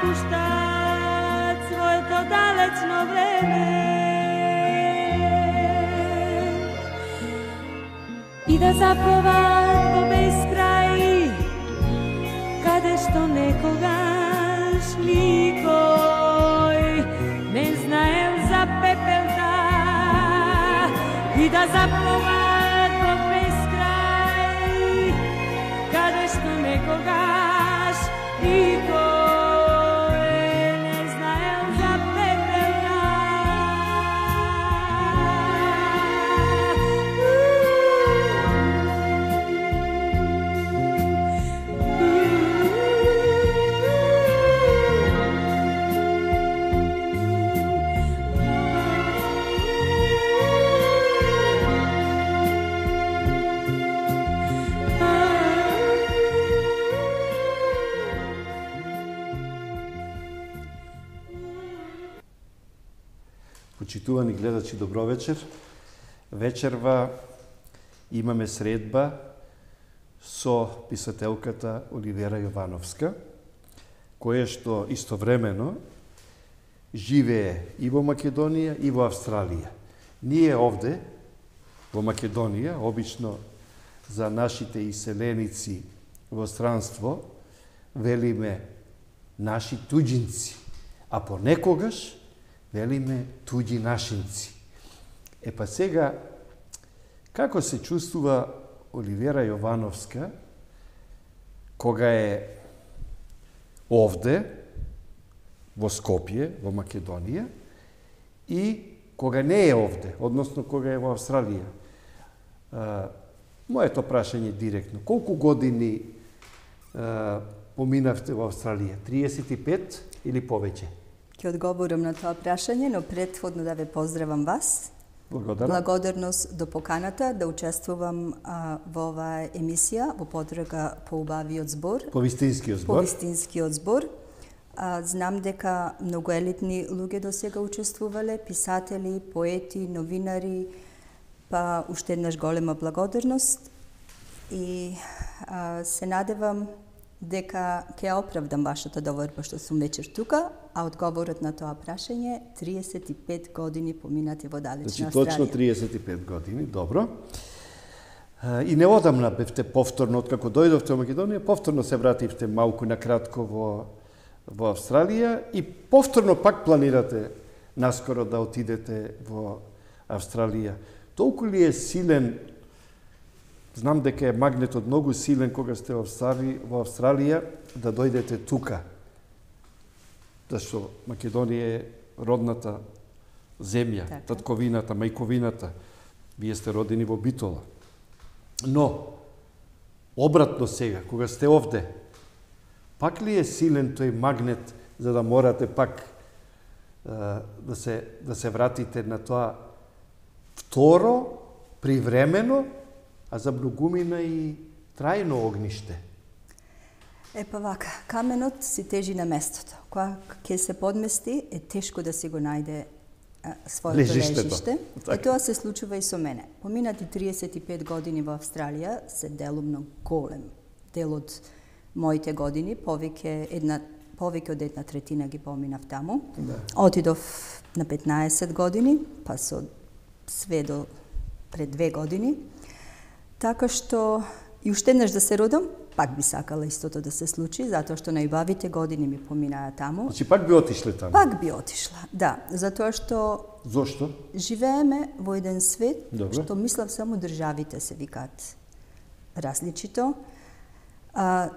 напуштат своето далечно време и да заплуват во бескрај, каде што некогаш никој не знаел за пепелта, и да заплуват во бескрај, каде што некогаш никој не знаел за пепелта. Почитувани гледачи, добро вечер. Вечерва имаме средба со писателката Оливера Јовановска, која што истовремено живее и во Македонија и во Австралија. Ние овде, во Македонија, обично за нашите иселеници во странство, велиме наши туѓинци, а понекогаш велиме туѓи нашинци. Па сега, како се чувствува Оливера Јовановска кога е овде, во Скопје, во Македонија, и кога не е овде, односно кога е во Австралија? Моето прашање директно. Колку години поминавте во Австралија? 35 или повеќе? Ќе одговорам на тоа прашање, но претходно да ве поздравам вас. Благодарност до поканата да учествувам во оваа емисија во потрага по убавиот збор. По вистинскиот збор. По вистинскиот збор. Знам дека многу елитни луѓе до сега учествувале, писатели, поети, новинари, па уште еднаш голема благодарност и се надевам дека ќе оправдам вашата доверба што сум вечер тука, а одговорот на тоа прашање 35 години поминати во далечна Австралија. Точно 35 години, добро. И не одамна бевте повторно, откако дојдовте во Македонија, повторно се вративте малку на кратко во Австралија и повторно пак планирате наскоро да отидете во Австралија. Толку ли е силен, знам дека е магнетот многу силен кога сте во Австралија, да дојдете тука? Зашто Македонија е родната земја, татковината, мајковината. Вие сте родени во Битола. Но, обратно сега, кога сте овде, пак ли е силен тој магнет за да морате пак да се вратите на тоа второ, привремено, а за многумина и трајно огниште? Па вака, каменот си тежи на местото. Кога ќе се подмести, е тешко да си го најде своето лежиште. И тоа се случува и со мене. Поминати 35 години во Австралија се делумно голем дел од моите години, повеќе од една третина ги поминав таму. Да. Отидов на 15 години, па со све до пред 2 години. Така што и уште еднаш да се родам, пак би сакала истото да се случи, затоа што најубавите години ми поминаа таму. Значи пак би отишле таму? Пак би отишла, да. Затоа што... Зошто? Живееме во еден свет, Добре. Што мислам само државите се викаат различито.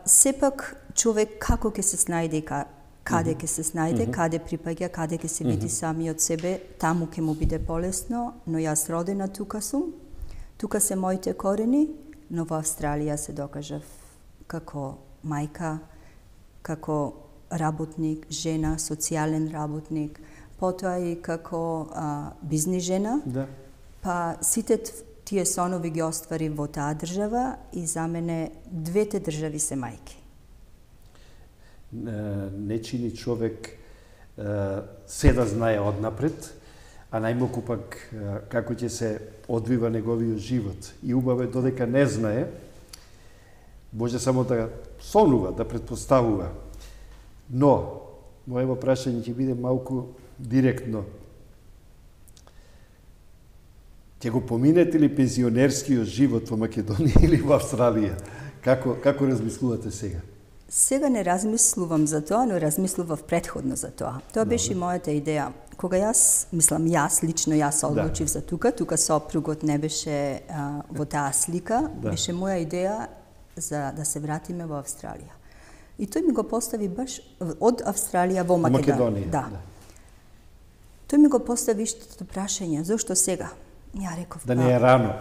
Сепак човек како ќе се снајде и каде ќе се снајде, каде припаѓа, каде ќе се види самиот себе, таму ќе му биде полесно, но јас родена тука сум, тука се моите корени, но во Австралија се докажав како мајка, како работник, жена, социјален работник, потоа и како бизнис жена. Да. Па сите тие сонови ги оствари во таа држава и за мене двете држави се мајки. Не чини човек се да знае однапред, а најмалку пак како ќе се одвива неговиот живот. И убаво е додека не знае, може само да сонува, да предпоставува. Но, моето прашање ќе биде малку директно. Ќе го поминете ли пензионерскиот живот во Македонија или во Австралија? Како размислувате сега? Сега не размислувам за тоа, но размислував предходно за тоа. Тоа беше мојата идеја. Кога лично се одлучив за тука сопругот не беше во таа слика, беше моја идеја за да се вратиме во Австралија. И тој ми го постави баш од Австралија во Македонија. Да. Тој ми го постави истото прашање, зошто сега? Ја реков, да не е рано.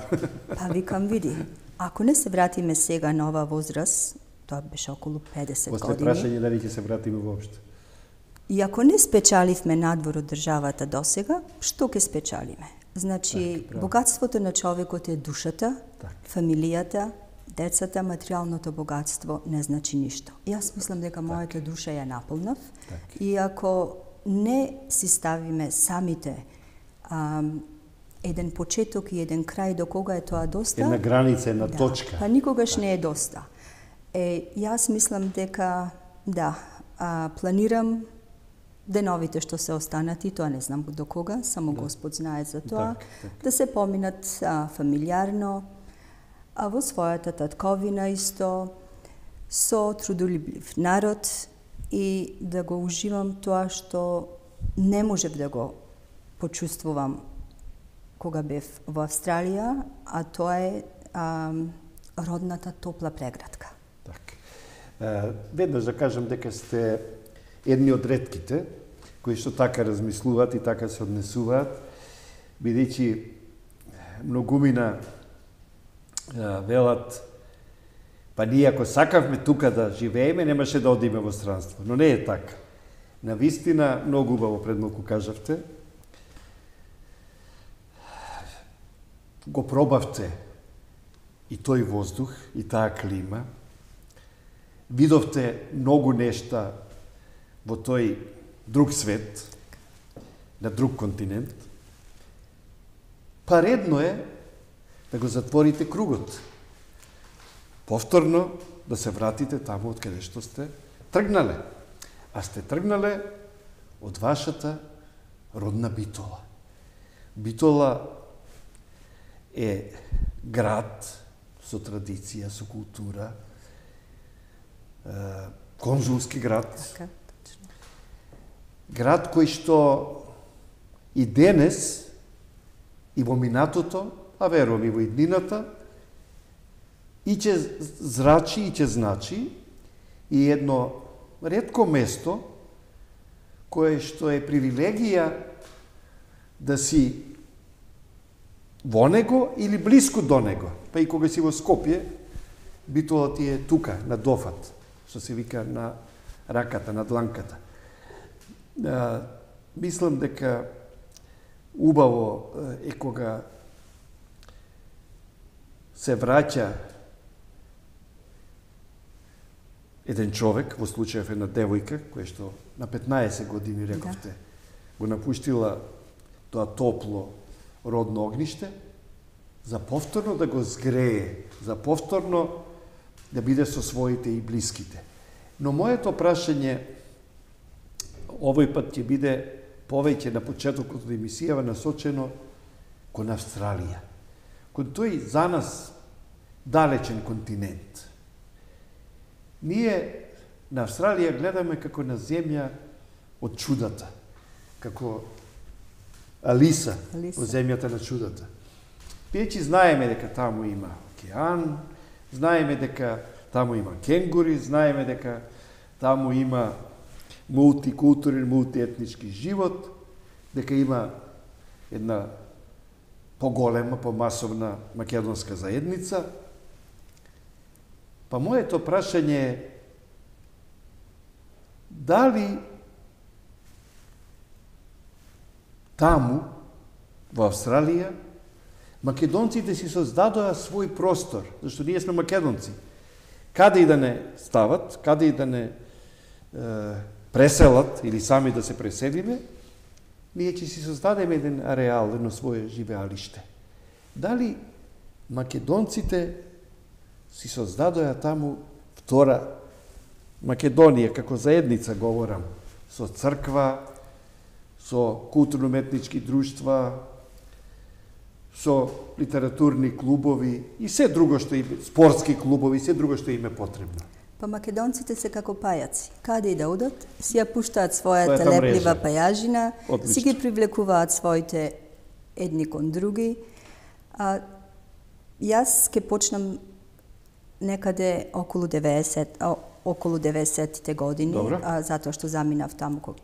Па викам, види, ако не се вратиме сега на оваа возраст, тоа беше околу 50 години. После прашање дали ќе се вратиме воопшто. И ако не спечаливме надвор од државата досега, што ќе спечалиме? Значи, богатството на човекот е душата, фамилијата, децата, материјалното богатство не значи ништо. Јас мислам дека мојата душа ја наполнав и ако не си ставиме самите еден почеток и еден крај до кога е тоа доста, една граница, една точка. Па никогаш не е доста. Јас мислам дека планирам деновите што се останати, тоа не знам до кога, само Господ знае за тоа, да се поминат фамилиарно, а во својата татковина исто, со трудолюбив народ и да го уживам тоа што не можев да го почувствувам кога бев во Австралија, а тоа е родната топла преградка. Веднаш да кажам дека сте едни од ретките кои што така размислуваат и така се однесуваат, бидејќи многумина велат, па ние ако сакавме тука да живееме, немаше да одиме во странство. Но не е така. Навистина, многу убаво пред малку кажавте, го пробавте и тој воздух, и таа клима, видовте многу нешта во тој друг свет, на друг континент, па редно е да го затворите кругот. Повторно да се вратите таму од каде што сте тргнале. А сте тргнале од вашата родна Битола. Битола е град со традиција, со култура, конзулски град. Град кој што и денес, и во минатото, а верувам и во иднината, и ќе зрачи, и ќе значи, и едно ретко место, кое што е привилегија да си во него или блиску до него. Па и кога си во Скопје, Битола ти е тука, на дофат, што се вика на раката, на дланката. Мислам дека убаво е кога се враќа еден човек, во случајов една девојка, која што на 15 години, рековте, го напуштила тоа топло родно огниште, за повторно да го згрее, за повторно да биде со своите и блиските. Но моето прашање овој пат ќе биде повеќе на почетокот од емисијава насочено кон Австралија, кон тој за нас далечен континент. Ние на Австралија гледаме како на земја од чудата, како Алиса во земјата на чудата. Бидејќи знаеме дека таму има океан, знаеме дека таму има кенгури, знаеме дека таму има мултикултурен, мултиетнички живот, дека има една поголема, помасовна македонска заедница. Па моето прашање е дали таму, во Австралија, македонците си создадоа свој простор, зашто ние сме македонци. Каде и да не стават, каде и да не преселат или сами да се преселиме, ние ќе си создадеме еден ареал, едно свое живеалиште. Дали македонците си создадоа таму втора Македонија, како заедница говорам, со црква, со културно-уметнички друштва, со литературни клубови и се друго што има, спортски клубови, се друго што им е потребно. Па македонците се како пајаци. Каде и да одат, си ја пуштаат својата леплива пајажина, си ги привлекуваат своите едни кон други. Јас ке почнам некаде околу 90-те години, затоа што заминав таму во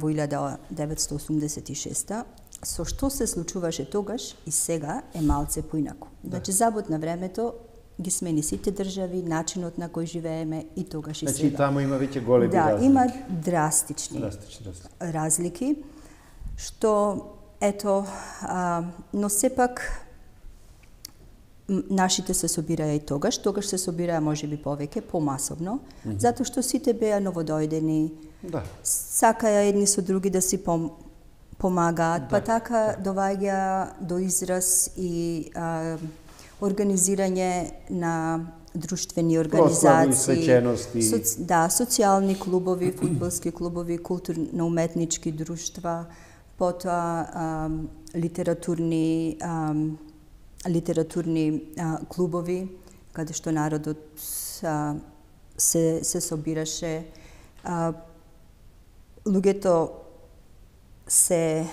1986. Со што се случуваше тогаш и сега е малце поинаку. Значи, забот на времето ги смени сите држави, начинот на кој живееме и тогаш и сега. Значи, таму има веќе големи разлики. Да, има драстични разлики, што, ето, но сепак, нашите се собираја и тогаш се собираја можеби повеќе, помасовно, затоа што сите беа новодојдени, сакаја едни со други да си помагаат, па така доваѓа до израз и организирање на друштвени организации, социјални клубови, фудбалски клубови, културно-уметнички друштва, потоа литературни клубови, каде што народот се собираше. Луѓето се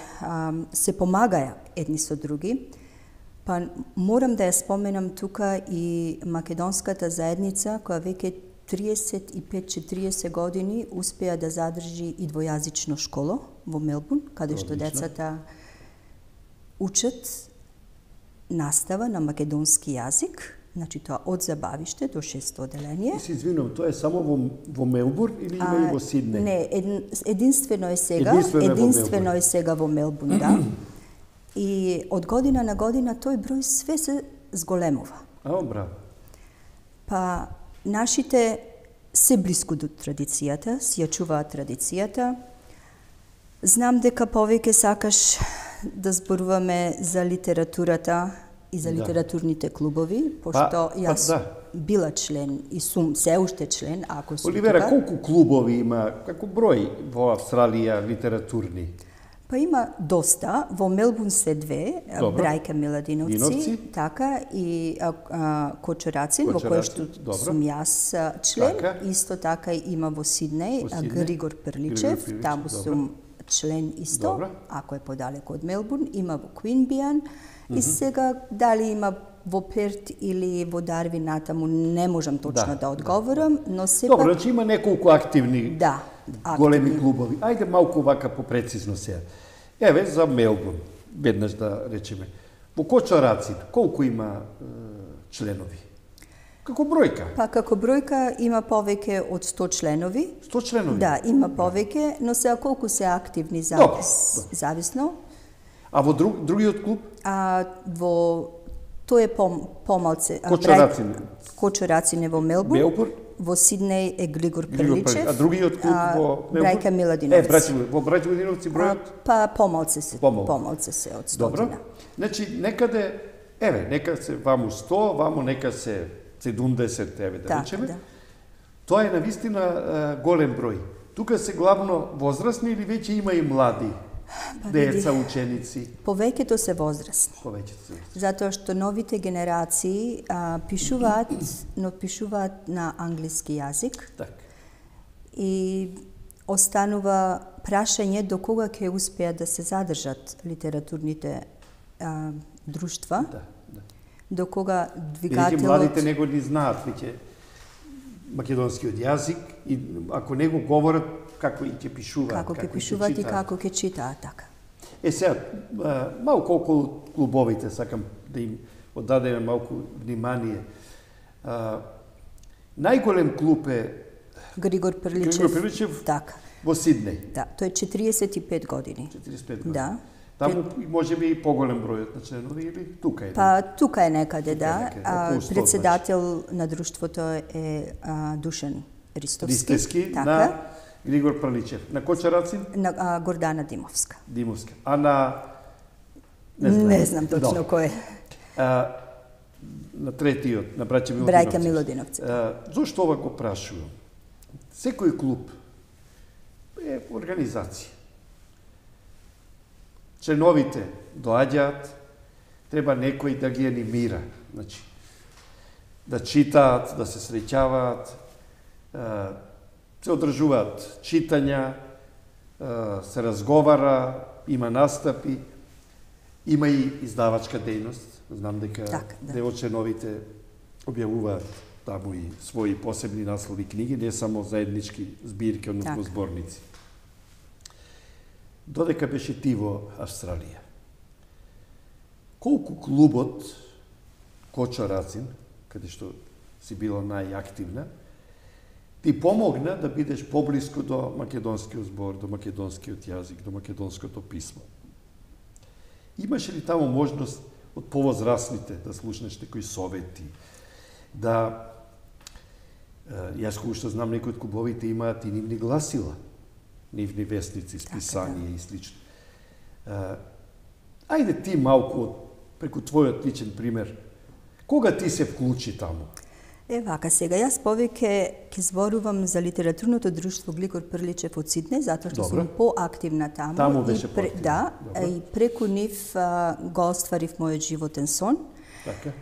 помагаја едни со други. Па морам да ја споменам тука и македонската заедница, која веќе 35-40 години успеа да задржи и двојазично школо во Мелбурн, каде што децата учат настава на македонски јазик, значи тоа од забавиште до 6-то оделение. Се извинувам, тоа е само во Мелбурн или има и во Сиднеј? Не, единствено е сега во Мелбурн, да. И од година на година тој број све се зголемува. Браво. Па нашите се блиску до традицијата, си ја чуваат традицијата. Знам дека повеќе сакаш да зборуваме за литературата и за литературните клубови, пошто јас била член и сум се уште член, ако сум Оливера, тука. колку клубови има, како број во Австралија литературни? Па има доста, во Мелбурн се две, Брајка Миладиновци, така, и Кочорацин, во кој што сум јас член, исто така има во Сиднеј, Григор Прличев, таму сум член исто, ако е подалеку од Мелбурн, има во Квинбијан, и сега дали има во Перт или во Дарвин натаму, не можам точно да одговорам, но сепак... Добро, значи има неколку активни големи клубови. Ајде малку вака попрецизно сега. Еве, за Мелбурн, веднаш да речеме. Во Кочорацин, колку има членови? Како бројка? Па како бројка има повеќе од 100 членови. 100 членови? Да, има повеќе, но сега колку се активни зависно. А во другиот клуб? Тој е помалце. Кочорацин е во Мелбурн. Во Сиднеј е Григор Прличев. А другиот клуб во Мелбурн? Брајка Миладиновци. Во Брајка Миладиновци бројот? Па помалце се од 100. Добро. Значи, некаде, еве, нека се ваму 100, ваму нека се 70, еве да речеме. Тоа е навистина голем број. Тука се главно возрастни или веќе има и млади? Деца, ученици? Повеќето се возрастни. Затоа што новите генерации пишуваат, но пишуваат на англиски јазик. И останува прашање до кога ќе успеат да се задржат литературните друштва. До кога двигателот... Веќе младите него не знаат веќе македонскиот јазик и ако не го говорат, како и ќе пишуваат. Како ќе пишуваат и како ќе читаат, така. Сега, малку околу клубовите, сакам да им оддадеме малку внимание. Најголем клуб е Григор Прличев, така. Во Сиднеј. Да, тој е 45 години. 45 години. Да. Таму може би и поголем бројот на членови или тука е? Па тука е некаде, да. Председател на друштвото е Душан Ристовски, така. На Григор Прличев. На Кочорацин? На Гордана Димовска. Димовска. А на... Не знам точно кој е. На третиот, на Брајка Миладиновци. Зошто ова го прашувам? Секој клуб е организација. Членовите доаѓаат, треба некој да ги анимира, значи, да читаат, да се среќаваат, се одржуваат читања, се разговара, има настапи, има и издавачка дејност. Знам дека дел од членовите објавуваат таму и своји посебни наслови книги, не само заеднички збирки, односно зборници. Додека беше ти во Австралија, колку клубот Кочо Рацин, каде што си била најактивна, ти помогна да бидеш поблиску до македонскиот збор, до македонскиот јазик, до македонското писмо? Имаше ли таму можност од повозрасните да слушнеш некои совети, да јас кој што знам некои од клубовите имаат и нивни гласила, нивни вестници, списанија и слично. Ајде ти малку преку твојот личен пример, кога ти се вклучи таму? Вака сега, јас повеќе ќе зборувам за литературното друштво Глигор Прличев од Сиднеј, затоа што сум поактивна таму. Таму беше поактивна. Да, и преку нив го остварив мојот животен сон. Така.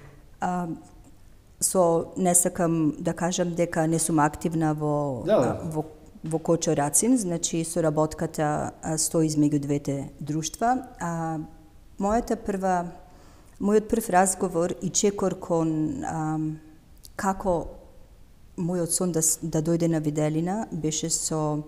Не сакам да кажам дека не сум активна во Кочо Рацин, значи соработката стои измеѓу двете друштва. Мојот прв разговор и чекор кон како мојот сон да дојде на виделина беше со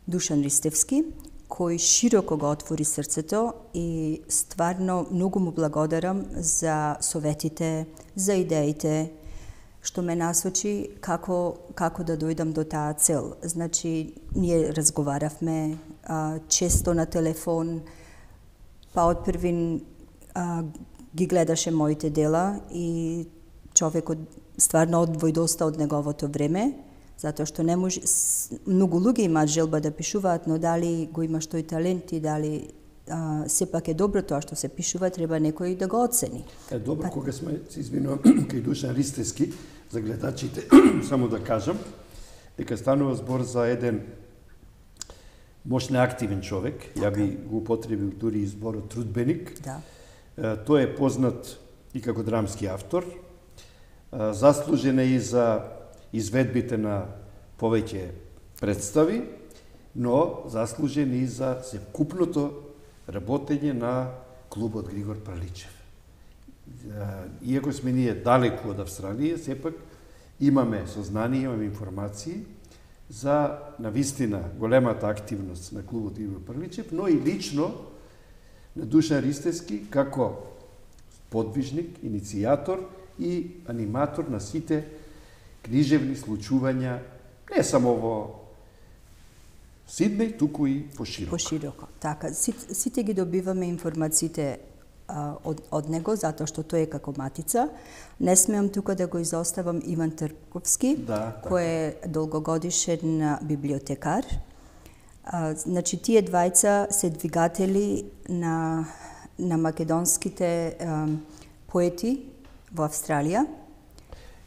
Душан Ристевски, кој широко го отвори срцето и стварно многу му благодарам за советите, за идеите, што ме насочи како да дојдам до таа цел. Значи, ние разговаравме често на телефон, па од првин ги гледаше моите дела и човекот стварно одвои доста од неговото време, затоа што не може, многу луѓе имаат желба да пишуваат, но дали го имаш тој талент и дали сепак е добро тоа што се пишува, треба некој да го оцени. Добро, кога сме, се извинувам, кај Душан Ристевски, за гледачите, само да кажам, дека станува збор за еден мощно активен човек, ја би го употребил дури и зборот трудбеник. Да. Тој е познат и како драмски автор, заслужен е и за изведбите на повеќе представи, но заслужен и за севкупното работење на клубот Григор Прличев. Иако сме ние далеку од Австралија, сепак имаме сознание, имаме информации за навистина големата активност на клубот Григор Прличев, но и лично на Душан Ристевски како подвижник, иницијатор и аниматор на сите книжевни случувања, не само во Сиднеј, туку и пошироко. Пошироко, така. Сите ги добиваме информациите од него, затоа што тој е како матица. Не смеам тука да го изоставам Иван Трпковски, кој е долгогодишен библиотекар. Значи, тие двајца се двигатели на македонските поети во Австралија.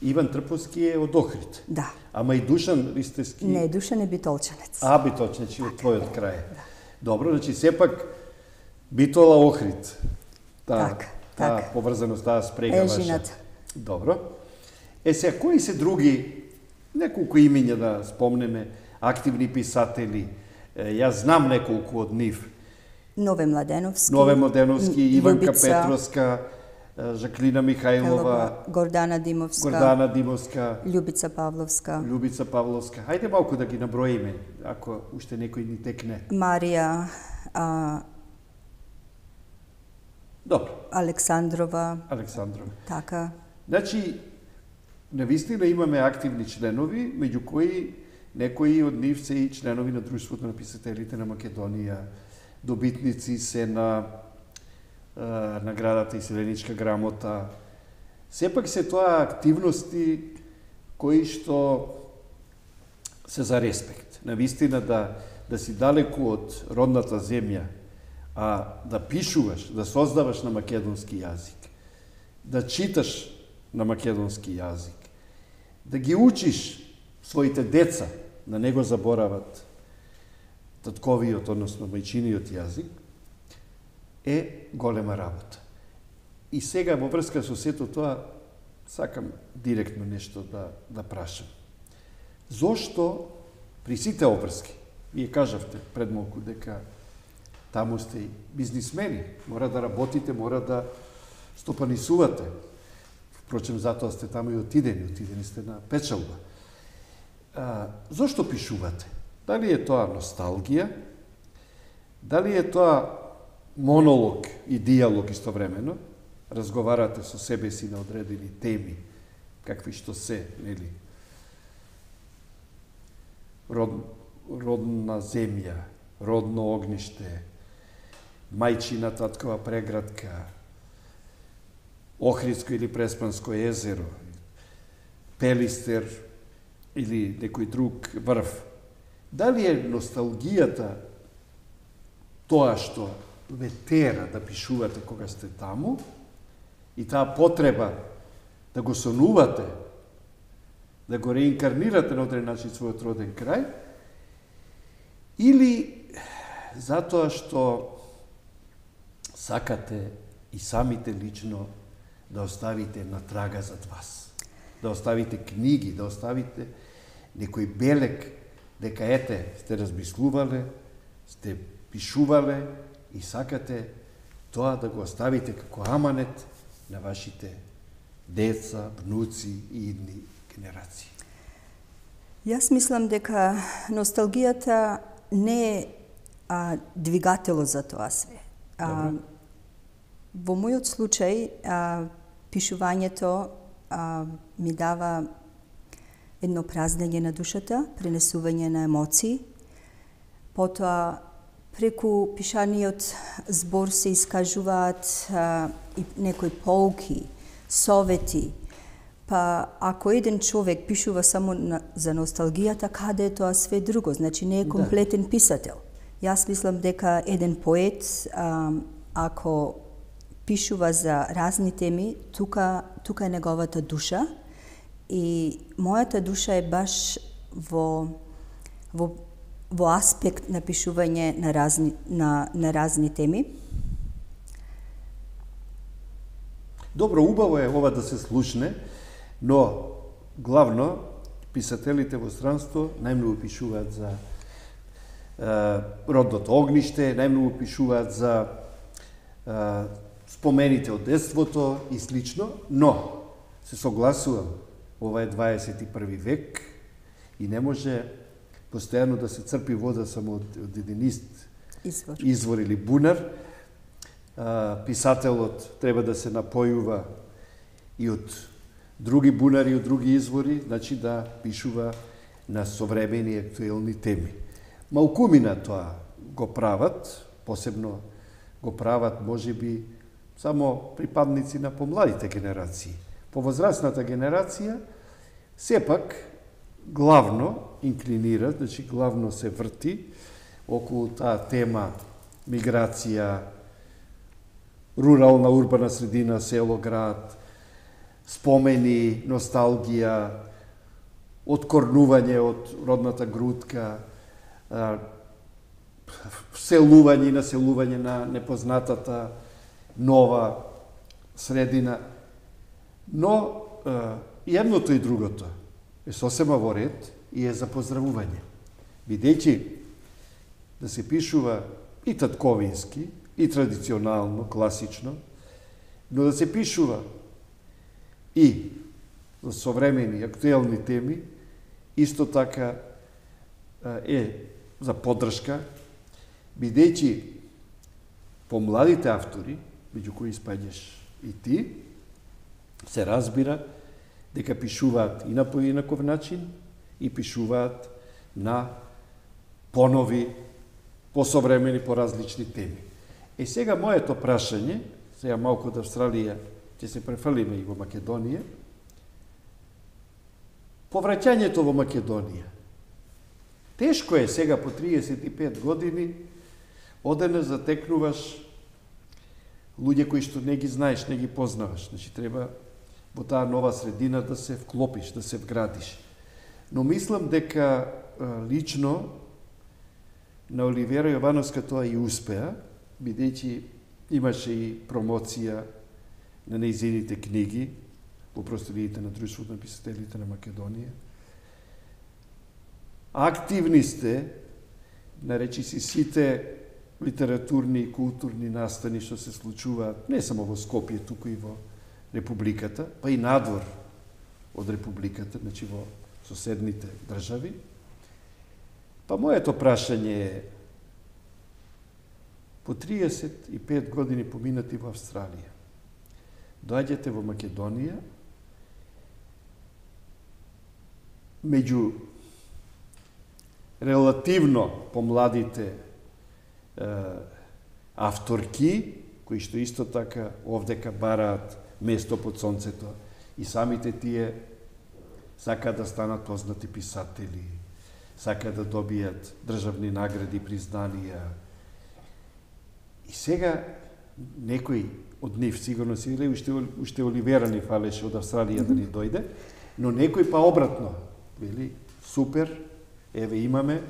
Иван Трпковски е од Охрид. Да. Ама и Душан Ристевски... Не, Душан е битолчанец. Битолчанец, од твојот крај. Добро, значи сепак Битола Охрид. Таа поврзаност, таа спрега ваша. Ежината. Добро. Сега, кои се други, неколку имиња да спомнеме, активни писатели? Јас знам неколку од нив. Нове Младеновски, Иванка Петровска, Жаклина Михајлова, Гордана Димовска, Љубица Павловска. Хајде малку да ги наброиме, ако уште некој ни текне. Марија Добро. Александрова. Така. Значи, навистина имаме активни членови, меѓу кои некои од нив се и членови на Друштвото на писателите на Македонија, добитници се на наградата Иселеничка грамота. Сепак се тоа активности кои што се за респект. Навистина да си далеку од родната земја, а да пишуваш, да создаваш на македонски јазик, да читаш на македонски јазик, да ги учиш своите деца, да не го заборават, татковиот, односно мајчиниот јазик, е голема работа. И сега во врска со сето тоа сакам директно нешто да прашам. Зошто при сите обврски, вие кажавте пред малку дека таму сте и бизнисмени, мора да работите, мора да стопанисувате. Впрочем, затоа сте таму и отидени сте на печалба. Зошто пишувате? Дали е тоа носталгија? Дали е тоа монолог и диалог истовремено? Разговарате со себе си на одредени теми, какви што се, нели? Родна земја, родно огниште, мајчина таткова преградка, Охридско или Преспанско езеро, Пелистер или некој друг врв. Дали е носталгијата тоа што ве тера да пишувате кога сте таму и таа потреба да го сонувате, да го реинкарнирате на одреден начин својот роден крај, или затоа што сакате и самите лично да оставите на трага зад вас, да оставите книги, да оставите некој белег, дека ете, сте размислувале, сте пишувале и сакате тоа да го оставите како аманет на вашите деца, внуци и идни генерации. Јас мислам дека носталгијата не е двигатело за тоа све. Во мојот случај, пишувањето ми дава едно празнење на душата, пренесување на емоции. Потоа, преку пишаниот збор се искажуваат и некои поуки, совети. Па, ако еден човек пишува само за носталгијата, каде е тоа све друго? Значи, не е комплетен писател. Јас мислам дека еден поет, ако пишува за разни теми, тука е неговата душа и мојата душа е баш во аспект на пишување на разни теми. Добро, убаво е ова да се слушне, но главно писателите во странство најмногу пишуваат за родното огниште, најмногу пишуваат за спомените од детството и слично, но се согласувам, ова е 21 век и не може постојано да се црпи вода само од еден извор или бунар. Писателот треба да се напојува и од други бунари, од други извори, значи да пишува на современи актуелни теми. Малкумина тоа го прават, посебно го прават можеби само припадници на помладите генерации. По возрастната генерација сепак главно инклинира, значи главно се врти околу таа тема миграција, рурална, урбана средина, село, град, спомени, носталгија, откорнување од родната грудка, вселување и населување на непознатата нова средина. Но и едното и другото е сосема во ред и е за поздравување. Бидејќи да се пишува и татковински, и традиционално, класично, но да се пишува и за современи, актуелни теми, исто така е за поддршка, бидејќи помладите автори, меѓу кои спаѓаш и ти, се разбира дека пишуваат и на поинаков начин и пишуваат на понови, посовремени, поразлични теми. И сега моето прашање, сега малку од Австралија ќе се префрлиме и во Македонија, повраќањето во Македонија. Тешко е сега по 35 години одене затекнуваш луѓе кои што не ги знаеш, не ги познаваш. Значи треба во таа нова средина да се вклопиш, да се вградиш. Но мислам дека лично на Оливера Јовановска тоа и успеа, бидејќи имаше и промоција на нејзините книги во просториите на Друштвото на писателите на Македонија. Активни сте, наречи си сите литературни и културни настани што се случуваат не само во Скопје, туку и во Републиката, па и надвор од Републиката, значи во соседните држави. Па моето прашање е, по 35 години поминати во Австралија, доаѓате во Македонија, меѓу релативно помладите авторки, кои што исто така овдека бараат место под сонцето, и самите тие сакаат да станат познати писатели, сакаат да добијат државни награди, признанија. И сега некој од нив, сигурно си или уште Оливера ни фалеше од Австралија да ни дојде, но некој па обратно, вели, супер, еве имаме,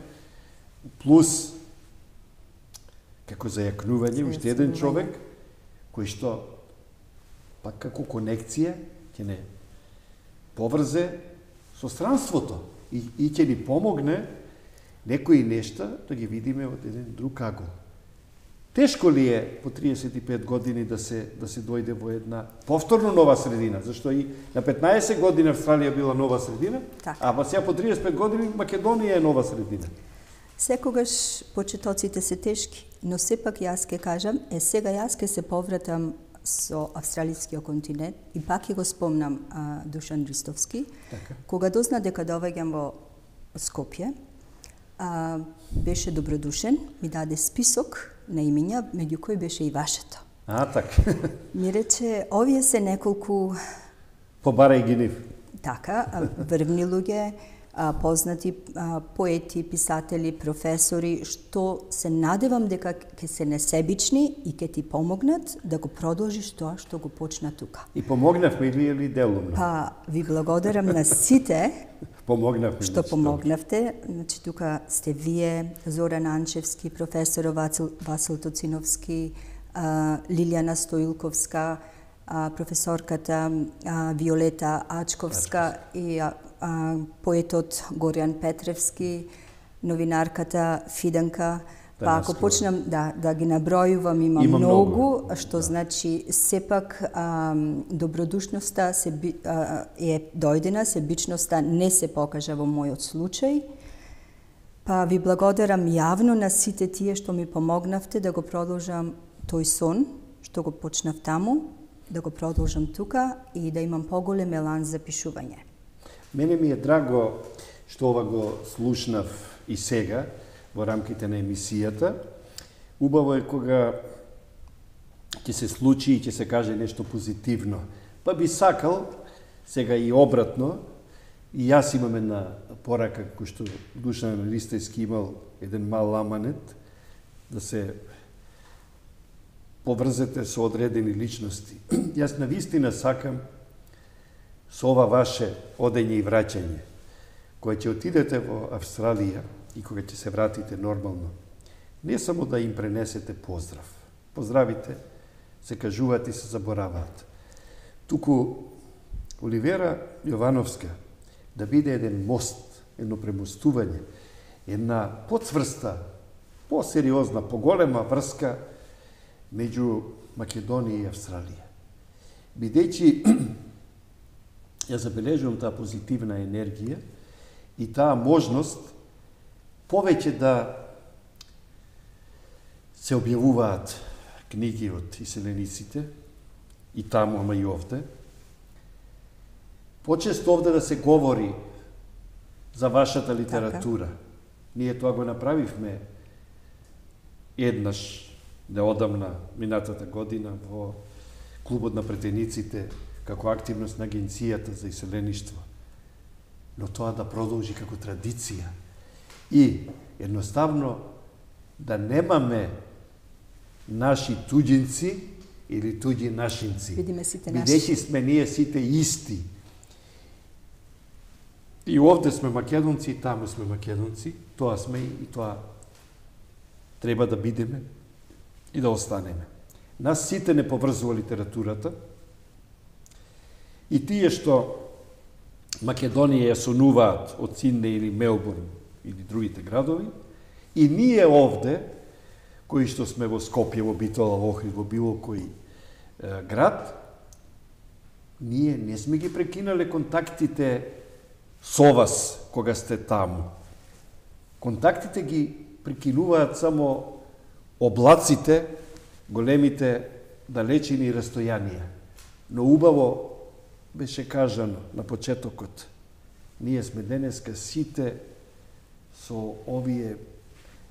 плюс како зајакнување, уште еден човек, кој што, пак како конекција, ќе не поврзе со странството и ќе ни помогне некои нешта да ги видиме од еден друг агол. Тешко ли е по 35 години да се дојде во една повторно нова средина, зашто и на 15 години Австралија била нова средина, а сега по 35 години Македонија е нова средина. Секогаш почетоците се тешки, но сепак јас ке кажам, сега јас ке се повратам со австралискиот континент и пак ќе го спомнам Душан Ристовски, кога дозна дека доаѓам во Скопје, беше добродушен, ми даде список на имиња, меѓу кои беше и вашето. Така. Ми рече, овие се неколку... Побарај ги нив. Така, врвни луѓе, познати поети, писатели, професори, што се надевам дека ќе се несебични и ќе ти помогнат да го продолжиш тоа што го почна тука. И помогнавме или делумно? Па, ви благодарам на сите што помогнавте. Значи, тука сте вие, Зоран Анчевски, професор Васил Тоциновски, Лилијана Стоилковска, професорката Виолета Ачковска и поетот Горјан Петревски, новинарката Фиданка. Па ако почнам да ги набројувам, има многу, што значи сепак добродушноста е дојдена, себичноста не се покажа во мојот случај. Па ви благодарам јавно на сите тие што ми помогнавте да го продолжам тој сон, што го почнав таму, да го продолжам тука и да имам поголем елан за пишување. Мене ми е драго што ова го слушнав и сега, во рамките на емисијата. Убаво е кога ќе се случи и ќе се каже нешто позитивно. Па би сакал, сега и обратно, и јас имам една порака, кој што Душан Ристовски имал еден мал аманет, да се поврзете со одредени личности. Јас навистина сакам со ова ваше одење и враќање, кога ќе отидете во Австралија и кога ќе се вратите нормално, не само да им пренесете поздрав. Поздравите се кажуваат и се забораваат. Туку Оливера Јовановска да биде еден мост, едно премостување, една поцврста, посериозна, поголема врска меѓу Македонија и Австралија. Бидејќи ја забележувам таа позитивна енергија и таа можност повеќе да се објавуваат книги од иселениците и таму, ама и овде. Почесто овде да се говори за вашата литература. Ние тоа го направивме еднаш, неодамна, минатата година, во Клубот на претениците, како активност на Агенцијата за иселеништво. Но тоа да продолжи како традиција. И едноставно да немаме наши туѓинци или туѓи нашинци. Бидејќи сме ние сите исти. И овде сме македонци, и таму сме македонци, тоа сме и тоа треба да бидеме и да останеме. Нас сите не поврзува литературата и тие што Македонија ја сонуваат од Сиднеј или Мелбурн или другите градови, и ние овде, кои што сме во Скопје, во Битола, во Охрид, во било кој град, ние не сме ги прекинале контактите со вас кога сте таму. Контактите ги прекинуваат само облаците, големите далечини растојанија. Но убаво беше кажано на почетокот. Ние сме денеска сите со овие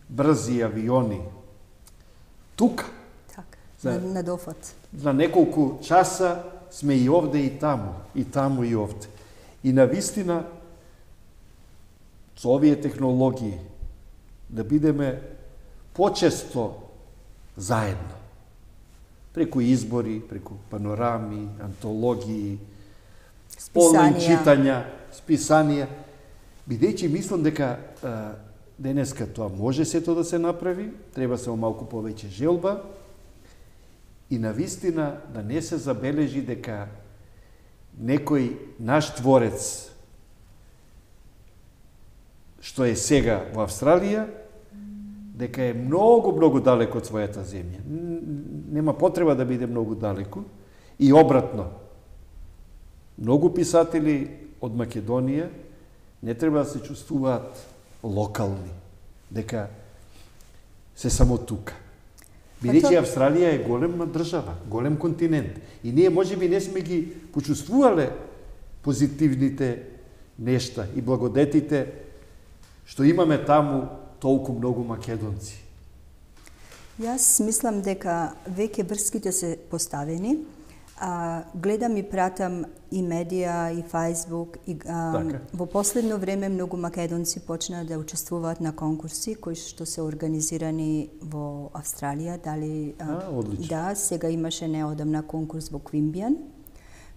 брзи авиони тука. Така, на дофат. За неколку часа сме и овде и таму и овде. И навистина со овие технологии да бидеме почесто заедно. Преку избори, преку панорами, антологии, онлайн читања, списанија, бидејќи мислам дека денеска тоа може сето да се направи, треба само малку повеќе желба и навистина да не се забележи дека некој наш творец што е сега во Австралија, дека е многу далеко од својата земја. Нема потреба да биде многу далеко и обратно. Многу писатели од Македонија не треба да се чувствуваат локални, дека се само тука. Бидејќи Австралија е голема држава, голем континент. И ние можеби не сме ги почувствувале позитивните нешта и благодетите што имаме таму толку многу македонци. Јас мислам дека веќе врските се поставени. Гледам и пратам и медија, и Facebook, и во последно време многу македонци почнаа да учествуваат на конкурси кои што се организирани во Австралија. Да, сега имаше неодамна конкурс во Квимбијан,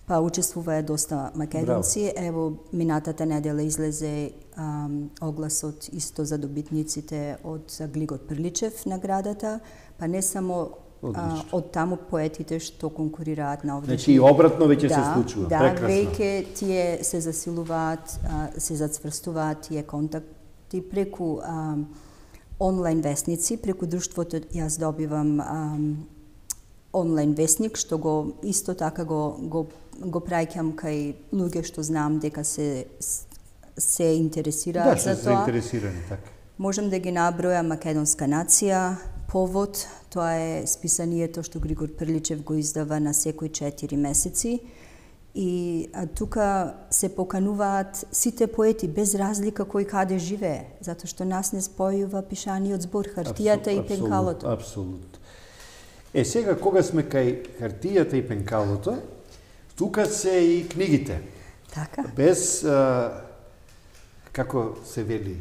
па учествуваа доста македонци. Браво. Ево, минатата недела излезе огласот исто за добитниците од Глигот Прличев наградата, па не само од таму поетите што конкурираат на овде. Значи и обратно веќе се случува. Да, прекрасно. веќе тие се засилуваат, се зацврстуваат тие контакти преку онлайн весници, преку друштвото јас добивам онлайн весник што го исто така го праќам кај луѓе што знам дека се интересираат за тоа. Да, се заинтересирани, така. Можам да ги набројам Македонска нација, Повод, тоа е списанието што Григор Прличев го издава на секои 4 месеци. И тука се покануваат сите поети без разлика кој каде живее, затоа што нас не спојува пишаниот збор, хартијата и пенкалото. Апсолутно. Сега кога сме кај хартијата и пенкалото, тука се и книгите. Така. Без, како се вели,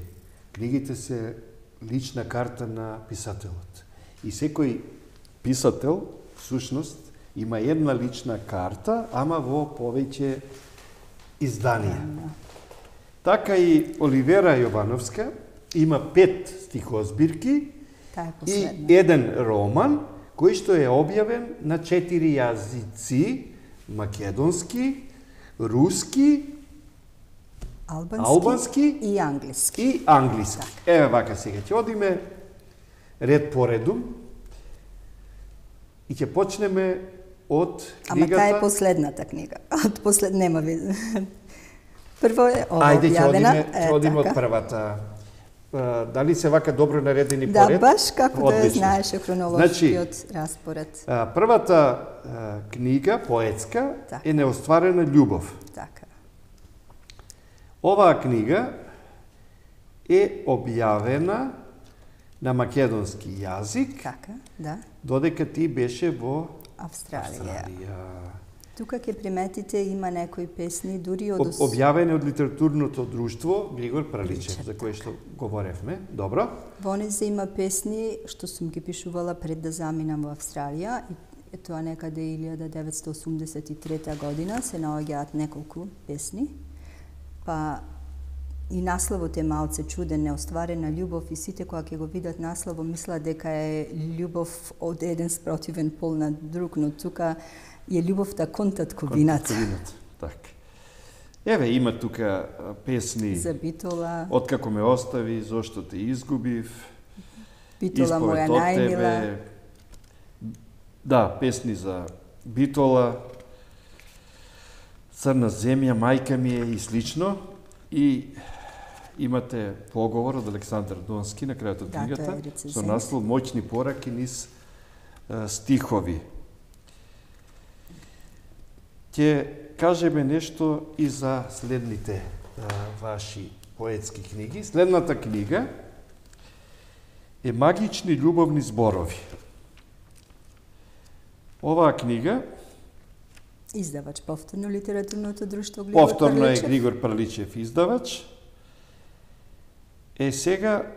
книгите се лична карта на писателот. И секој писател, всушност, има една лична карта, ама во повеќе изданија. Така и Оливера Јовановска има 5 стихозбирки и еден роман, кој што е објавен на 4 јазици: македонски, руски, албански и англиски. И англиски. Еве вака сега ќе одиме ред по редум и ќе почнеме од книгата... Ама таа е последната книга. Нема везе. Прво е ова објавена. Ајде, ќе одиме од првата. Дали се вака добро наредени поред? Да, баш како да знаеше хронолошкиот распоред. Првата книга, поетска, е Неостварена љубов. Така. Оваа книга е објавена на македонски јазик, така, да, додека ти беше во Австралија. Тука ќе приметите има некои песни дури од објавени од литературното друштво Григор Прличев, за кое што говоревме. Добро. Во незе има песни што сум ги пишувала пред да заминам во Австралија и тоа некаде 1983 година се наоѓаат неколку песни. Па и насловот е малце чуден, неостварена љубов, и сите кога ќе го видат насловот мислат дека е љубов од еден спротивен пол на друг, но тука е љубовта кон татковината. Так. Еве, има тука песни За Битола, Откако ме остави, Зошто те изгубив, Битола моја Исповед од најмила. тебе. Да, песни за Битола, Црна земја, Мајка ми е и слично. И имате поговор од Александар Донски на крајот од Да, книгата тоа е рецензент. со наслов Моќни пораки низ стихови. Ќе кажеме нешто и за следните ваши поетски книги. Следната книга е Магични љубовни зборови. Оваа книга Издавач повторно литературното друштво Григор повторно е Парличев. Григор Парличев издавач. Сега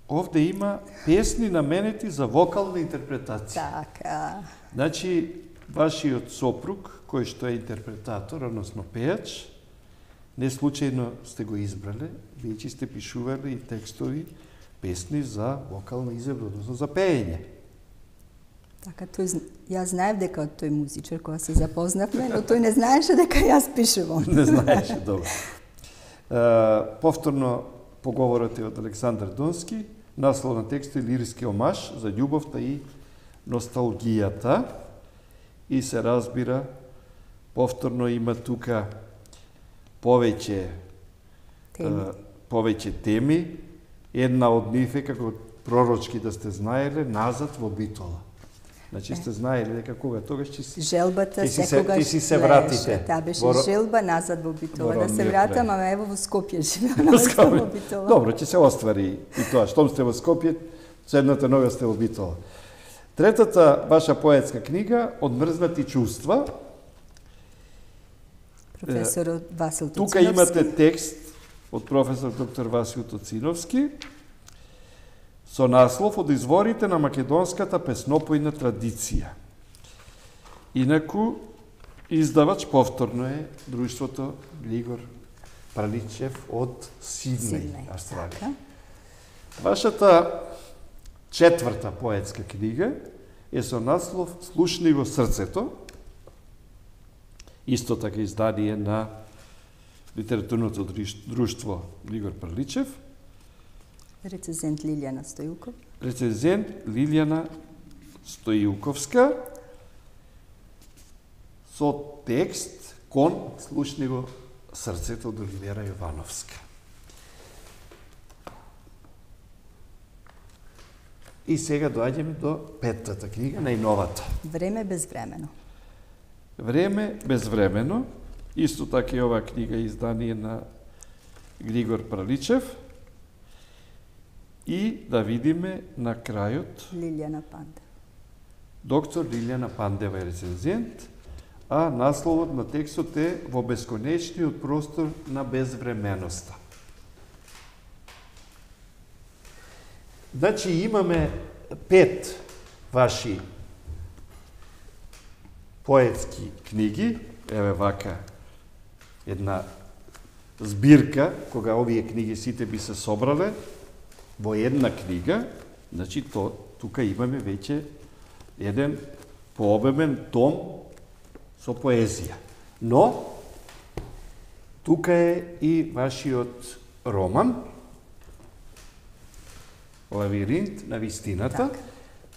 овде има песни наменети за вокална интерпретација. Така. Значи, вашиот сопруг, кој што е интерпретатор, односно пејач, не случајно сте го избрале, веќе сте пишували и текстови, песни за вокална изјавба, односно за пеење. Така, јас знаев дека од тој музичар кога се запознавме, но тој не знаеше дека јас пишувам. Не знаеше, добро. Повторно поговорот е од Александар Донски, наслов на текстот е лириски омаж за љубовта и носталгијата. И се разбира, повторно има тука повеќе теми. Една од нив е, како пророчки да сте знаеле, назад во Битола. Значи сте знаеле дека кога тогаш ќе си Желбата ќе си се вратите. Таа беше Во желба назад во Битола. во Да се родниот вратам, крај. ама ево во Скопје живеам назад во Битола. Добро, ќе се оствари и тоа. Штом сте во Скопје, седната нога сте во Битола. Третата ваша поетска книга, Одмрзнати чувства. Професорот Васил Тоциновски. Тука имате текст од професор доктор Васил Тоциновски со наслов Од изворите на македонската песнопојна традиција. Инаку, издавач повторно е друштвото Григор Парличев од Сиднеј, Австралија. Така. Вашата четврта поетска книга е со наслов Слушни во срцето. Исто така издание на литературното друштво Григор Парличев. Рецензент Лилијана Стојуков. Рецензент Лилијана Стојуковска со текст Кон слушни во срцето од Оливера Јовановска. И сега доаѓаме до петтата книга, најновата. Време безвремено. Време безвремено. Исто така и оваа книга е издание на Григор Парличев. И да видиме на крајот Лилијана Пандев. доктор Лилијана Пандева е рецензент, а насловот на текстот е Во бесконечниот простор на безвременоста. Значи имаме 5 ваши поетски книги, еве вака една збирка, кога овие книги сите би се собрале во една книга, значи тука имаме веќе еден пообемен том со поезија. Но тука е и вашиот роман Лавиринт на вистината, Так.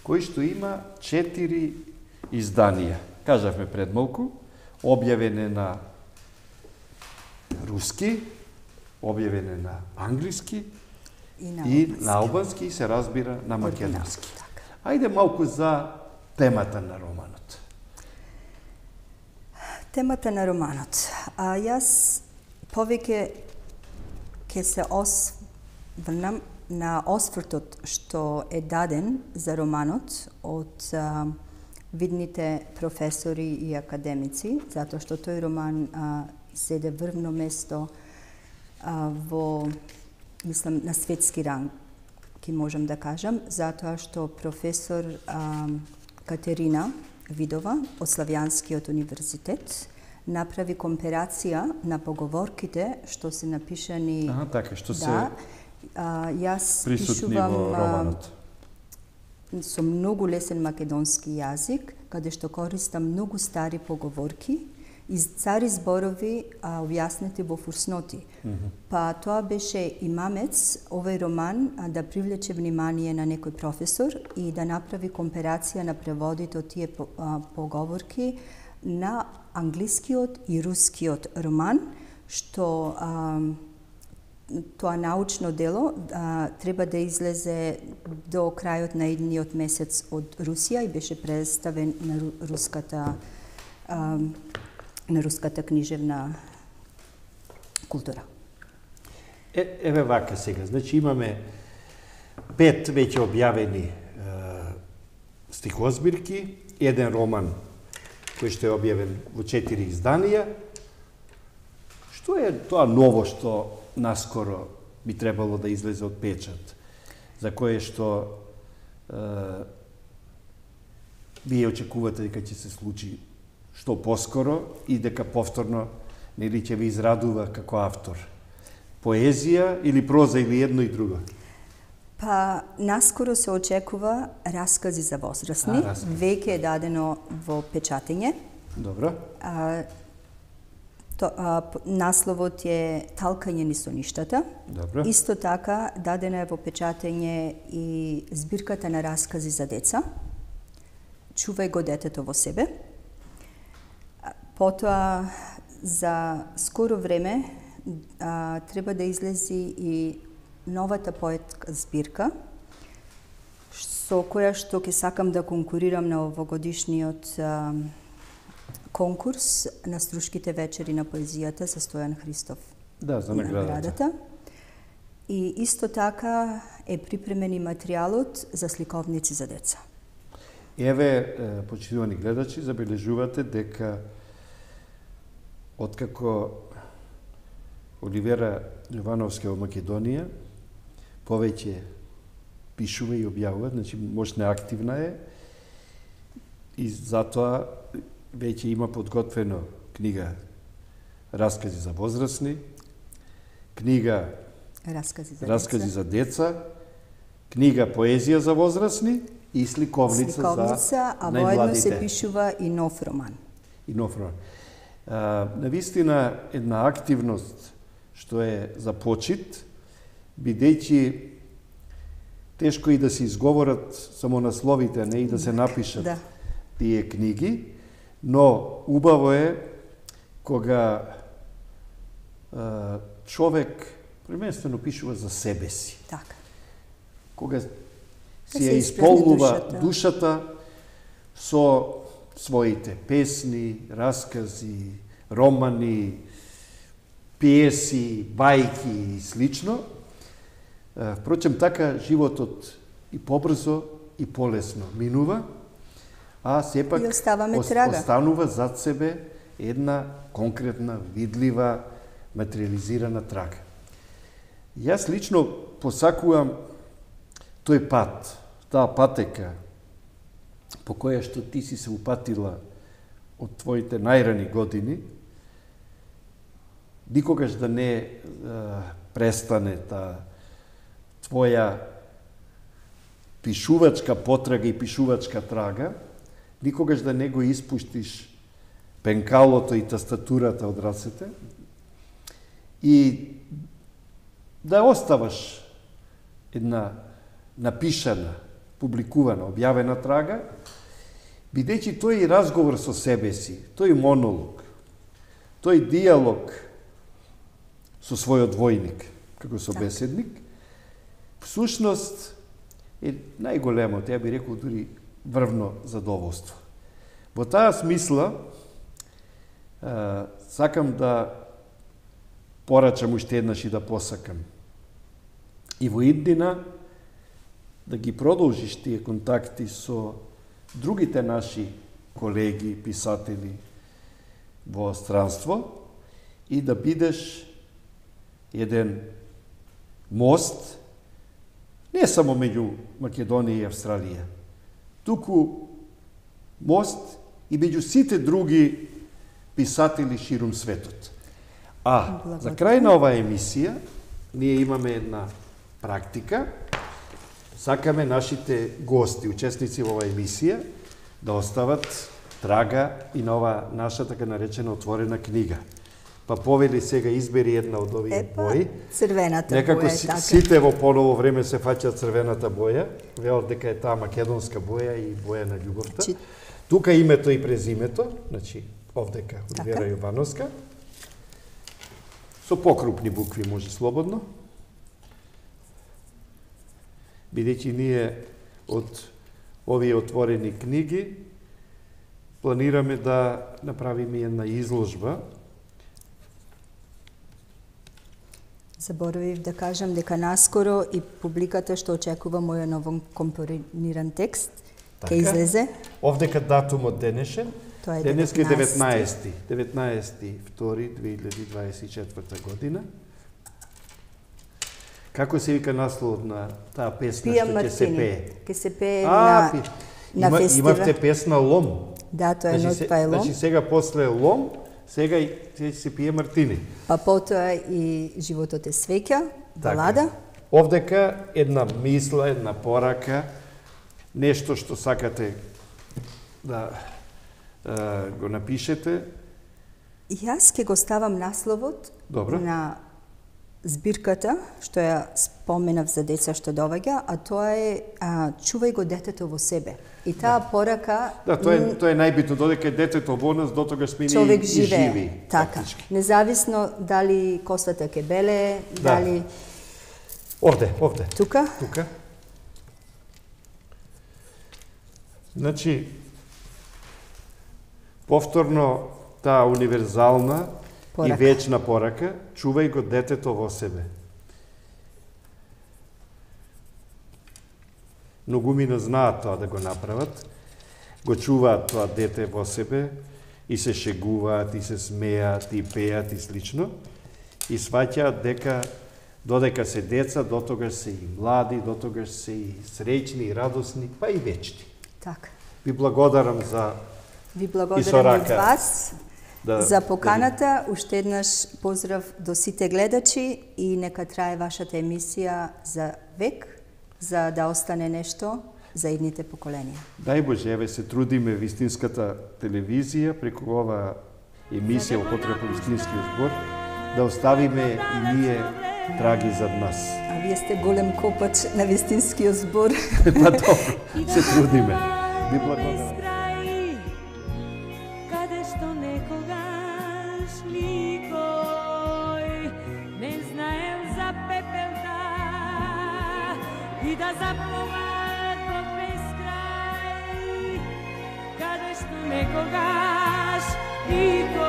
кој што има 4 изданија. Кажавме пред малку, објавен е на руски, објавен е на англиски и на албански и се разбира на македонски. Така. Ајде малку за темата на романот. Темата на романот. Јас повеќе ќе се осврнам на освртот што е даден за романот од видните професори и академици, затоа што тој роман седе врвно место во, мислам, на светски ранг, ки можам да кажам, затоа што професор Катерина Видова од Славјанскиот универзитет направи компарација на поговорките што се напишани. Така, што се јас присутни во романот. Со многу лесен македонски јазик, каде што користам многу стари поговорки и стари зборови објаснети во фусноти. Па тоа беше и мамец, овој роман, да привлече внимание на некој професор и да направи компарација на преводите од тие поговорки на англискиот и рускиот роман, што тоа научно дело треба да излезе до крајот на едниот месец од Русија и беше представен на руската книжевна култура. Еве вака сега, значи имаме 5 веќе објавени стихозбирки, еден роман кој што е објавен во 4 изданија. Што е тоа ново што наскоро би требало да излезе од печат, за кое што вие очекувате дека ќе се случи што поскоро и дека повторно нели ќе ви израдува како автор? Поезија или проза или едно и друго? Па, наскоро се очекува раскази за возрастни. Веќе е дадено во печатење. Добро. Насловот е Талкање низ соништата. Добро. Исто така дадена е во печатење и збирката на раскази за деца. Чувај го детето во себе. Потоа за скоро време треба да излези и новата поетска збирка, со која што ќе сакам да конкурирам на овогодишниот конкурс на Струшките вечери на поезијата за Стојан Христов. Да, за наградата. И исто така е припремен и материјалот за сликовници за деца. Еве, почитувани гледачи, забележувате дека откако Оливера Јовановска во Македонија повеќе пишува и објавува, значи мощна активна е и затоа веќе има подготвено книга Раскази за возрастни, книга Раскази за деца, книга Поезија за возрастни и сликовница за најмладите. А воедно се пишува и нов роман. И нов роман. Навистина една активност што е за почит, бидејќи тешко и да се изговорат само насловите, а не и да се напишат тие книги, но убаво е кога човек преместено пишува за себе си. Така. Кога си ја исполнува душата со своите песни, раскази, романи, пиеси, бајки и слично. Впрочем, така животот и побрзо и полесно минува, а сепак останува зад себе една конкретна, видлива, материализирана трага. Јас лично посакувам тој пат, таа патека, по која што ти си се упатила од твоите најрани години, никогаш да не престане таа твоја пишувачка потрага и пишувачка трага, никогаш да не го испуштиш пенкалото и тастатурата од рацете и да оставаш една напишана, публикувана, објавена трага, бидејќи тој разговор со себе си, тој монолог, тој диалог со својот двојник, како собеседник, всушност е најголемото, ја би рекол дури врвно задоволство. Во таа смисла, сакам да порачам уште еднаш и да посакам. И во иднина да ги продолжиш тие контакти со другите наши колеги, писатели во странство и да бидеш еден мост не само меѓу Македонија и Австралија, туку мост и меѓу сите други писатели ширум светот. А за крај на оваа емисија, ние имаме една практика. Сакаме нашите гости, учесници во оваа емисија, да остават трага и на оваа наша така наречена отворена книга. Па повели сега избери една од овие бои. Црвената Некако боја, така. сите во поново време се фаќаат црвената боја, велат дека е таа македонска боја и боја на љубовта. Тука името и презимето, значи овдека Оливера Јовановска. Со покрупни букви може слободно. Бидејќи ние од овие отворени книги планираме да направиме една изложба. Заборавив да кажам дека наскоро и публиката што очекува мојот ново компониран текст ќе излезе. Овдека датумот денешен. Тоа е денеска е 19.2.2024 година. Како се вика насловот на таа песна Пија што ќе се Мартини. пее? Ќе се пее на фестивал. Имавте песна Лом. Да, тоа е нот па е Лом. Значи сега после Лом, сега и се пие Мартини. Па потоа и Животот е свеќа, балада. Овдека една мисла, една порака, нешто што сакате да го напишете. Јас ќе го ставам насловот на збирката, што ја споменав за деца што доваѓа, а тоа е чувај го детето во себе. И таа порака... Да, тоа е најбитно, додека детето во нас, дотогаш сме човек и живи. Така, независно дали косата ќе беле, дали... Овде. Тука? Тука. Значи, повторно таа универзална и вечна порака, чувај го детето во себе. Многумина знаат тоа да го направат, го чуваат тоа дете во себе и се шегуваат, и се смеат, и пеат и слично, и сваќаат дека додека се деца, дотогаш се и млади, дотогаш се и среќни, и радосни, па и вечни. Така. Ви благодарам за Ви благодарам и вас за поканата. Уште еднаш поздрав до сите гледачи и нека трае вашата емисија за век, за да остане нешто за идните поколенија. Дај Боже, еве се трудиме вистинската телевизија преку оваа емисија во потреба вистинскиот збор да оставиме и ние траги зад нас. А вие сте голем копач на вистинскиот збор. Па добро, се трудиме. Ви благодарам. Каде што некогаш никој не знаел за пепелта и да заплуваат во бескрај, каде што некогаш никој